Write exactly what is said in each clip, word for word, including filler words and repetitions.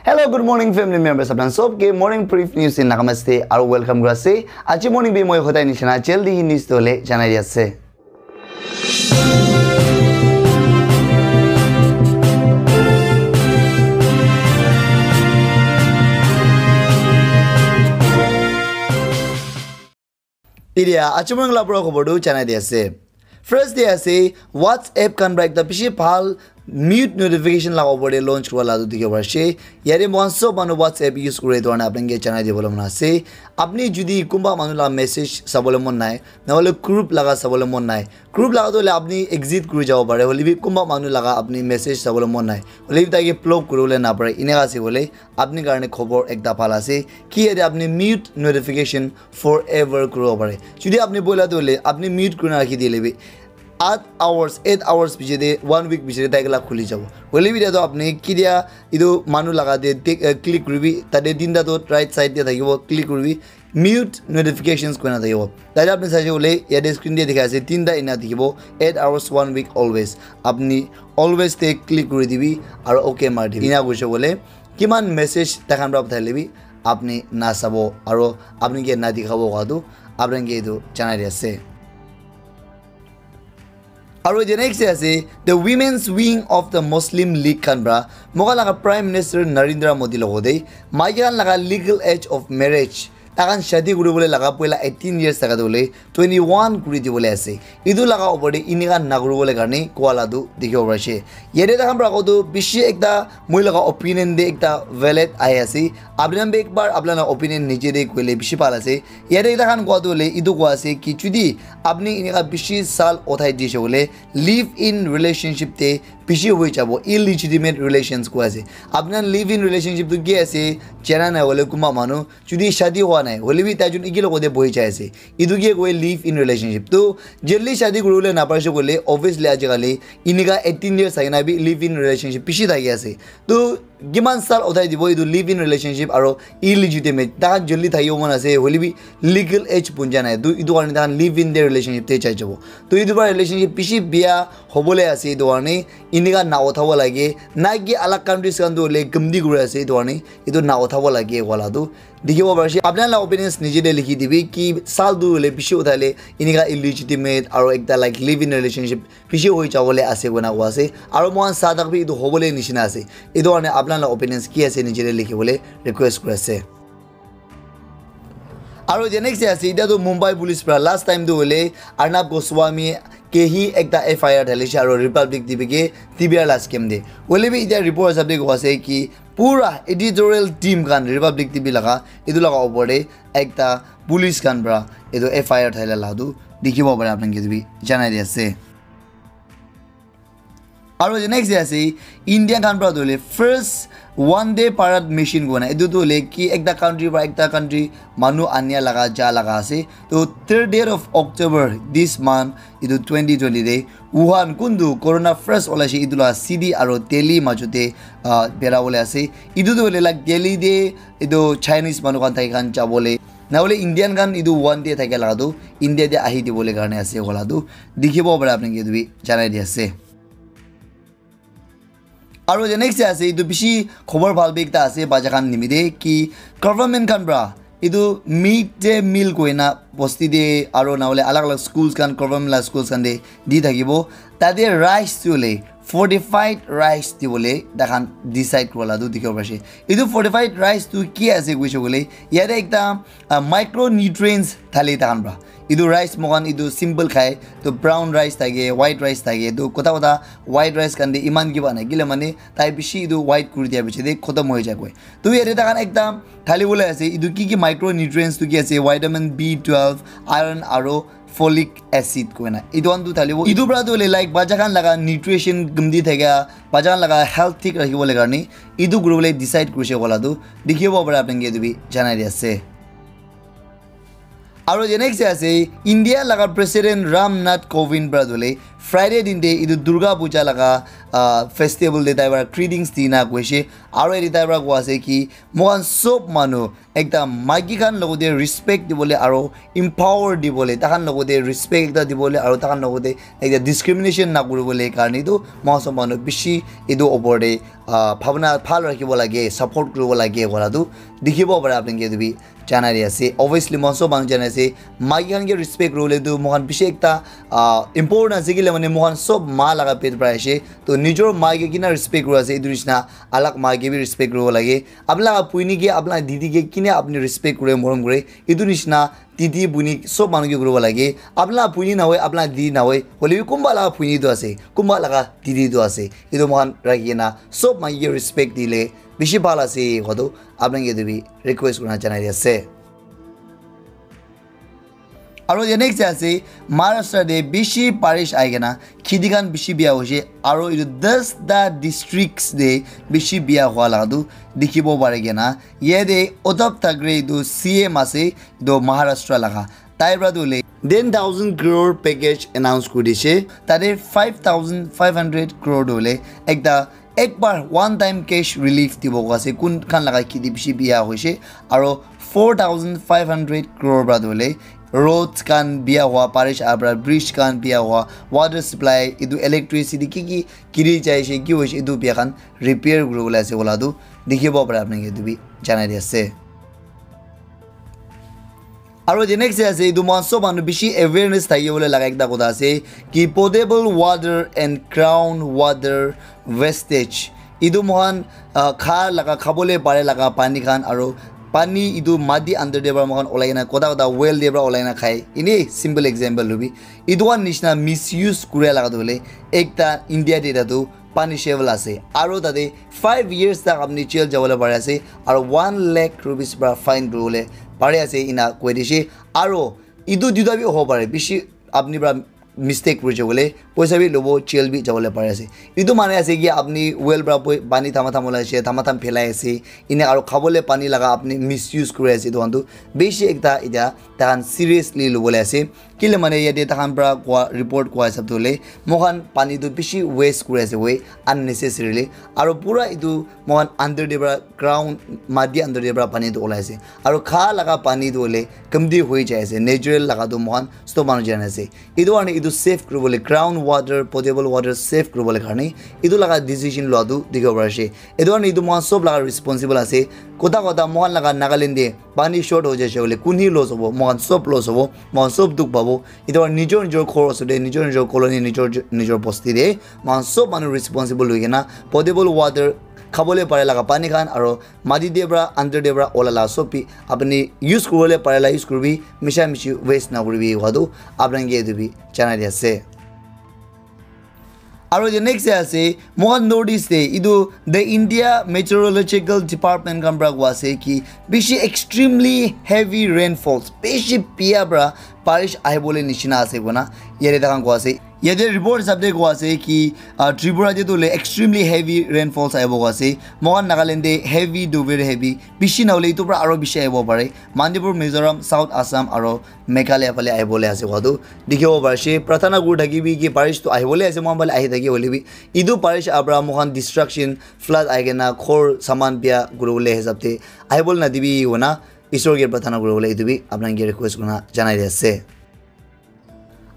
Hello, good morning, family members. Apnan sob ke morning brief news in Nagamas te aru welcome kura ase. Aji morning bi moi hodai nishina jaldi hi news dole janai di ase. Idia, achi morning la pura khobor tu janai di ase. First day ase, WhatsApp khan pra ekta bishi bhal mute notification laga opor te launch kura la tu dikhibo pari ase. Yate moikhan sob manu WhatsApp use kure etu karne apni ke janai dibole mon ase. Apni judi kunba manu la message sabole mon nai, nahole group laga sabole mon nai, group laga tu hoile apni exit kuri jabo pare, hoile bi kunba manu laga apni message sabole mon nai, hoile bi tai ke block kuribole na pare, eneka ase bole apni karne khobor ekta bhal ase ki yate apni mute notification forever kuribo pare. Jodi apni boila tu hoile apni mute kurina rakhi dile bi eight hours, eight hours piche te, one week piche te tai kala khuli jabo. Hoile bi etia tu apni kidia etu manu laga te te, eh, click kuribi, tate tinta tu right side te thakibo, click kuribi, mute notifications koina thakibo. Tate apni saise hoile yate screen te dikha ase tinta ena dikhibo, eight hours, one week, always. Apni always te click kuri dibi aru okay mari dibi. Ena kurise bole kiman message takhan pra pathaile bi apni na sabo aru apni ke na dikhabo kowa tu apni ke etu janai di ase. Aru the next day ase, the women's wing of the Muslim League khan pra moikhan laga Prime Minister Narendra Modi logote maiki khan laga legal age of marriage, takhan shadi kuribole laga poila eighteen years thaka tu hoile twenty-one kuri dibole ase. Etu laga opor te enika na kuribole karne kowa la tu dikhibo pari ase. Yate takhan pra kowa tu bishi ekta moi laga opinion te ekta valid ahi ase. Apni khan bi ekbar apni laga opinion niche te koile bishi bhal ase. Yate takhan kowa tu hoile etu kowa ase ki jodi apni enika bishi sal uthai dise hoile live in relationship te bishi hoi jabo, illegitimate relations kowa ase. Apni khan live in relationship tu ki ase jana nai hoile kunba manu jodi shadi hua nai hoile bi tai jun eki logote bohi jai ase, etu ke koi live in relationship. Tu jaldi shadi kuribole na parise koile obviously ajikali enika eighteen years thaki na bi live in relationship bishi thaki ase. Tu kiman sal uthai dibo etu live in relationship aru illegitimate, takhan jaldi thakibo mon ase hoile bi legal age punja nai, tu etu karne takhan live in te relationship te jai jabo. Tu etu pra relationship bishi bia hobole ase, etu karne enika na uthabo lage na ki alag countries khan tu hoile gumdi kuri ase, etu karne etu na uthabo lage wala tu dikhibo pari ase. Apni khan la opinions niche te likhi dibi ki sal tu hoile bishi uthaile enika illegitimate aru ekta like live in relationship bishi hoi jabole ase koina kowa ase. Aru moikhan sa tak bi etu hobole nishina ase. Etu karne apni khan la opinions ki ase niche te likhibole request kuri ase. Aru the next day ase, etia tu Mumbai police pra last time tu hoile Arnab Goswami ke hi ekta F I R dhalishe aru Republic T V ke T B R la scam de. Hoile bi etia report hisab de kowa ase ki pura editorial team khan Republic T V laga etu laga opor te ekta police khan pra etu F I R thaila la tu dikhibo pare apni khan ke bi janai di ase. Aru the next day ase, India khan pra tu hoile first Vande Bharat mission koina, etu tu hoile ki ekta country pra ekta country manu ania laga ja laga ase. To third day of October this month, etu twenty twenty te Wuhan kuntu corona first olaise etu la city aru Delhi majo te, ah, bera bole ase. Etu tu hoile like Delhi te etu Chinese manu khan thaki khan jabole na hoile Indian khan etu Vande thakia laga tu India te ahi dibole karne ase kowa la tu dikhibo pare apni khan ke etu bi janai di ase. Aru the next day ase, etu bishi khobor bhal bi ekta ase bacha khan nimite ki government khan pra etu mid day meal koina bosti te aru na hoile alag alag schools khan, government la schools khan te di thakibo. Tate rice tu hoile fortified rice dibole takhan decide kura la tu dikhibo pari ase. Etu fortified rice tu ki ase koise koile, yate ekta, ah, micronutrients thali takhan pra. Etu rice moikhan etu simple khai, to brown rice thake, white rice thake, to kota kota white rice khan te iman kiba nai, kile mane tai bishi etu white kuri dia piche te khotom hoi jai koi. To yate takhan ekta thali bole ase, etu ki ki micronutrients tu ki ase, vitamin B twelve, iron aru folic acid koina. Etu khan tu thalibo. Etu pra tu hoile like bacha khan laga nutrition gumdi thaka, bacha khan laga health thik rakhibo le karne etu kuribole decide kurise kowa la tu dikhibo pare apni khan ke etu bi janai di ase. Aru the next day ase, India laga President Ram Nath Kovind pra tu hoile Friday din te etu Durga Puja laga, ah, festival te tai para greetings dina koise. Aro yate tai para koa ase ki, moikhan sob manu ekta maiki khan logote respect dibole aro empower dibole, takhan logote respect ekta dibole aro takhan logote ekta discrimination na kuribole karne tu moikhan sob manu bishi etu opor te, ah, bhabna bhal rakhibo lage, support kuribo lage koa tu dikhibo pare apni ke tu bi janai di ase. Obviously, moikhan sob manu janai ase, maiki khan ke respect kuribole tu moikhan bishi ekta, ah, important ase, kile mane moikhan sob ma laga pet para ase. To nijor ma ke kina respect kuri ase, etu nishina alag ma ke bi respect kuribo lage. Apni laga bhuini ke, apni laga didi ke kina apni respect kure, morom kure, etu nishina didi bhuini sob manu ke kuribo lage. Apni laga bhuini na hoi, apni laga didi na hoi, hoile bi kunba laga bhuini tu ase, kunba laga didi tu ase. Etu moikhan rakhi kena sob maiki ke respect dile bishi bhal ase koa tu apni ke etu bi request kurina janai di ase. Aro the next day ase, Maharashtra te bishi barish ahi kena kheti khan bishi bia hoise, aro etu das ta districts te bishi bia hua laga tu dikhibo pare kena. Yate Uddhav Thackeray etu C M ase, etu Maharashtra laga, tai para tu hoile ten thousand crore package announce kuri dise. Tate five thousand five hundred crore tu hoile ekta ek bar one time cash relief dibo koa ase, kun khan laga kheti bishi bia hoise. Aro four thousand five hundred crore para tu hoile roads khan bia hua, barish aha para bridge khan bia hua, water supply, etu electricity ki ki giri jai ase, ki hoise, etu bia khan repair kuribole ase koa tu dikhibo pare apni ke etu bi janai di ase. Aro the next day ase, etu moikhan sob manu bishi awareness thaki bole laga ekta kotha ase ki potable water and ground water wastage. Etu moikhan, ah, kha laga, khabole pare laga pani khan aro pani etu mati under te para moikhan olai kena, kota kota well te para olai kena khai. Ine simple example hobi. Etu khan nishina misuse kure laga tu hoile ekta India te etu punishable ase. Aro tate five years tak apni jail jabole pari ase, aro one lakh rupees para fine kuribole pari ase, ina koi dise. Aro etu duita bi hobo pare, bishi apni para mistake kuri jabole poisa bi lobo, jail bi jabole pari ase. Etu mane ase ki apni well para poi-, pani thama thama ulai ase, thama tham phelai ase, ina aro khabole pani laga apni misuse kuri ase, etu khan tu bishi ekta etia tahan seriously lobole ase. Kile mane yate takhan para koa report koa hisab tu hoile, moikhan pani tu bishi waste kuri ase we unnecessarily. Aro pura etu moikhan under te para ground, mati under te para pani tu olai ase. Aro kha laga pani tu hoile kamti hoi jai ase. Natural laga tu moikhan sob manu jana ase. Etu karne etu save kuribole, ground water, potable water save kuribole karne etu laga decision lua tu dikhibo pari ase. Etu karne etu moikhan sob laga responsible ase. Kota kota moikhan laga Nagaland te pani short ho jaise koile, kun hi loss hobo? Moikhan sob loss hobo, moikhan sob dukh pabo. Etu para nijor nijor ghor osor te, nijor nijor colony, nijor nijor bosti te moikhan sob manu responsible hoi kena potable water, khabole pare laga pani khan, aro mati te para, under te para ola laga sob bi apni use kuribole pare laga use kuribi, misha mishi waste na kuribi, koa tu apni ke etu bi janai di ase. Aro the next day ase, moikhan North East te etu the India Meteorological Department khan para koa ase ki bishi extremely heavy rainfalls, bishi bia para barish ahibole nishina ase koina yate takhan koa ase. Yate report hisab te koa ase ki, ah, Tripura te tu hoile extremely heavy rainfalls ahibo koa ase. Moikhan Nagaland te heavy to very heavy, bishi na hoile etu para aro bishi ahibo pare. Manipur, Mizoram, South Assam aro Meghalaya phale ahibole ase koa tu dikhibo pari ase. Prarthana kuri thakibi ki barish tu ahibole ase, moikhan phale ahi thaki hoile bi etu barish aha para moikhan destruction, flood ahi kena ghor saman bia kuribole hisab te ahibole nadibi koina Isor ke prarthana kuribole etu bi apni ke request kurina janai di ase.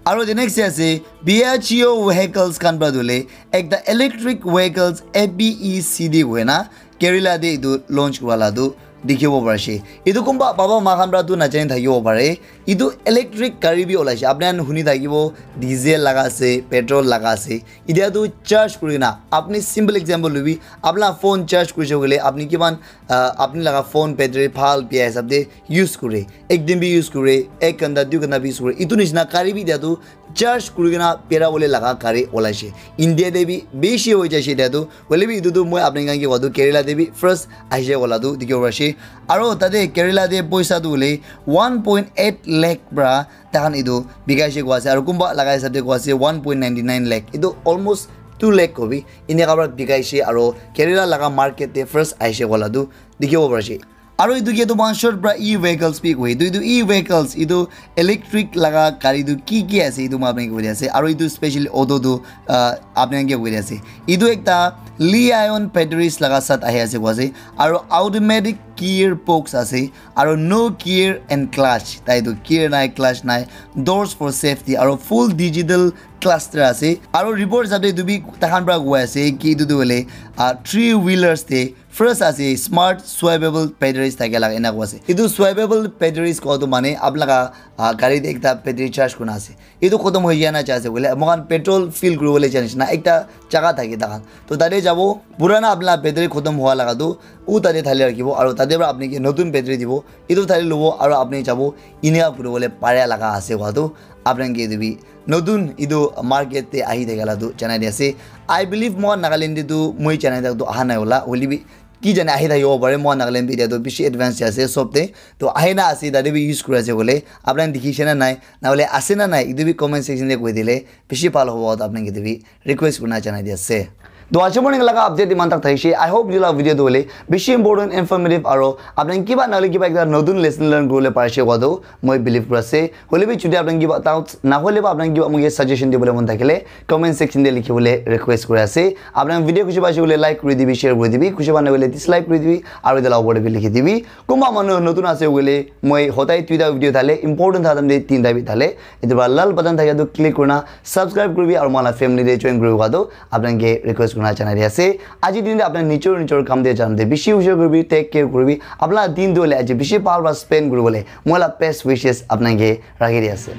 Aro the next day ase, B H E V vehicles khan para tu hoile ekta electric vehicles A B E C D koina Kerala te etu launch kura laga tu dikhibo pari ase. Etu kunba baba ma khan para tu najani thakibo pare. Etu electric gari bi olai ase. Apni khan huni thakibo, diesel laga ase, petrol laga ase. Etia tu charge kuri kena, apni simple example lobi, apni laga phone charge kurise koile, apni kiman, ah, apni laga phone battery bhal bia hisab te use kure, ek din bi use kure, ek ghanta, dui ghanta bi use kure. Etu nishina gari bi etia tu charge kuri kena bera bole laga gari olai ase. India te bi bishi hoi jai ase etia tu. Hoile bi etu tu moi apni khan ke koa tu Kerala te bi first ahi jai koa laga tu dikhibo pari ase. Aro tate Kerala te poisa tu hoile one point eight lakh para takhan etu bikai ase koa ase. Aro kunba laga hisab te koa ase one point nine nine lakh. Etu almost two lakh hobi. Eneka para bikai ase aro Kerala laga market te first ahi ase koa laga tu dikhibo pari ase. Aru etu ke tu moikhan short pra e-vehicles bi koi. Etu, etu e-vehicles, etu electric laga gari tu ki ki ase, etu moi apni ke koi di ase. Aru etu specially auto tu, ah, apni ke koi di ase. Etu ekta Li Ion batteries laga sat ahi ase koi ase. Aru automatic gear box ase. Aru no gear and clutch. Tai tu gear nai, clutch nai. Doors for safety. Aru full digital cluster ase. Aru report hisab te etu bi takhan pra koi ase ki etu tu hoile, ah, three wheelers te first ase smart swappable batteries thake laga ena koi ase. Etu swappable batteries koa tu mane apni laga, ah, gari te ekta battery charge kurina ase. Etu khotom hoi jana chai ase koile, moikhan petrol fill kuribole jai nishina ekta jaga thake takhan. To tate jabo, purana apni laga battery khotom hua laga tu, u tate thali rakhibo, aru tate pra apni ke notun battery dibo, etu thali lobo, aru apni jabo, inika kuribole pare laga ase koa tu, apni ke etu bi notun etu market te ahi thaka la tu janai di ase. I believe moikhan Nagaland te tu moi janai thaka tu aha nai wala, hoile bi ki jane ahi thakibo pare, moikhan Nagaland te etia tu bishi advance jai ase sob te. To ahi na ase, tate bi use kuri ase koile, apni dikhi se na nai, na hoile ase na nai, etu bi comment section te koi dile bishi bhal hobo, to apni ke etu bi request kurina janai di ase. To aji morning laga update iman tak thakise. I hope etu laga video tu hoile bishi important, informative aru apni kiba nahole kiba ekta notun lesson learn kuribole parise koa tu moi believe kuri ase. Hoile bi jodi apni kiba doubts nahole ba apni kiba moke suggestion dibole mon thakile comment section te likhibole request kuri ase. Apni video khushi paise koile like kuri dibi, share kuri dibi, khushi pa nahole dislike kuri dibi aru etu laga opor te bi likhi dibi. Kunba manu notun ase koile moi hodai duita video thale, important thaka time te tinta bi thale, etu pra lal button thaka tu click kurina subscribe kuribi aru moikhan laga family te join kuribi koa tu apni ke request kurina janai di ase. Aji din te apni nijor nijor kam te jan te bishi hushar kuribi, take care kuribi. Apni laga din tu hoile aji bishi bhal pra spend kuribole moi laga best wishes apni ke rakhi di ase.